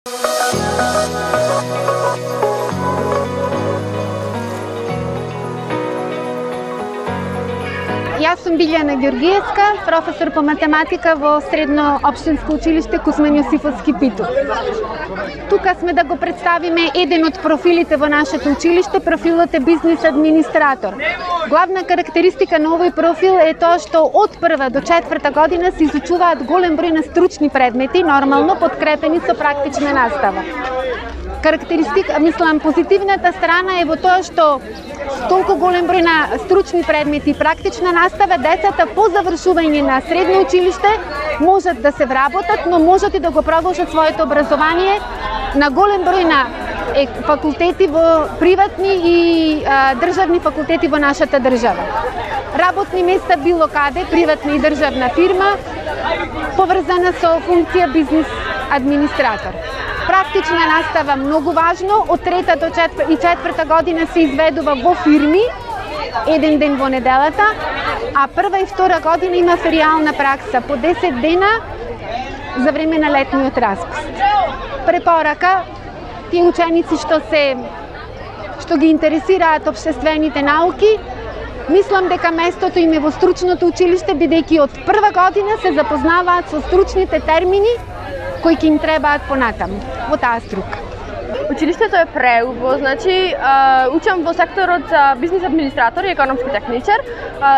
Јас сум Билјана Ѓоргиевска, професор по математика во Средно општинско училиште Кузман Јосифовски Питов. Тука сме да го представиме еден од профилите во нашето училиште, профилот е бизнис администратор. Главна карактеристика на овој профил е тоа што од прва до четврта година се изучуваат голем број на стручни предмети, нормално подкрепени со практична настава. Позитивната страна е во тоа што толку голем број на стручни предмети и практична настава, децата по завршување на средно училиште можат да се вработат, но можат и да го продолжат своето образование на голем број на факултети во приватни и државни факултети во нашата држава. Работни места било каде, приватна и државна фирма, поврзана со функција бизнис администратор. Практична настава многу важно, од трета до четврта година се изведува во фирми, еден ден во неделата, а прва и втора година има феријална пракса по 10 дена за време на летниот распуст. Препорака, тие ученици што ги интересираат општествените науки, мислам дека местото им е во стручното училиште, бидејќи од прва година се запознаваат со стручните термини кои ќе им требаат понатаму во таа струка. Училиштето е преубаво, значи учам во секторот за бизнис администратор и економски техничар.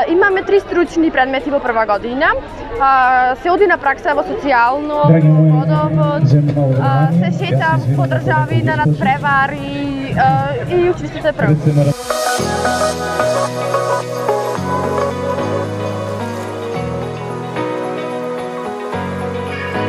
Имаме 3 стручни предмети во прва година. Се оди на пракса во социјално, водовод, се шета по држави на надпревари и училиштето е преубаво.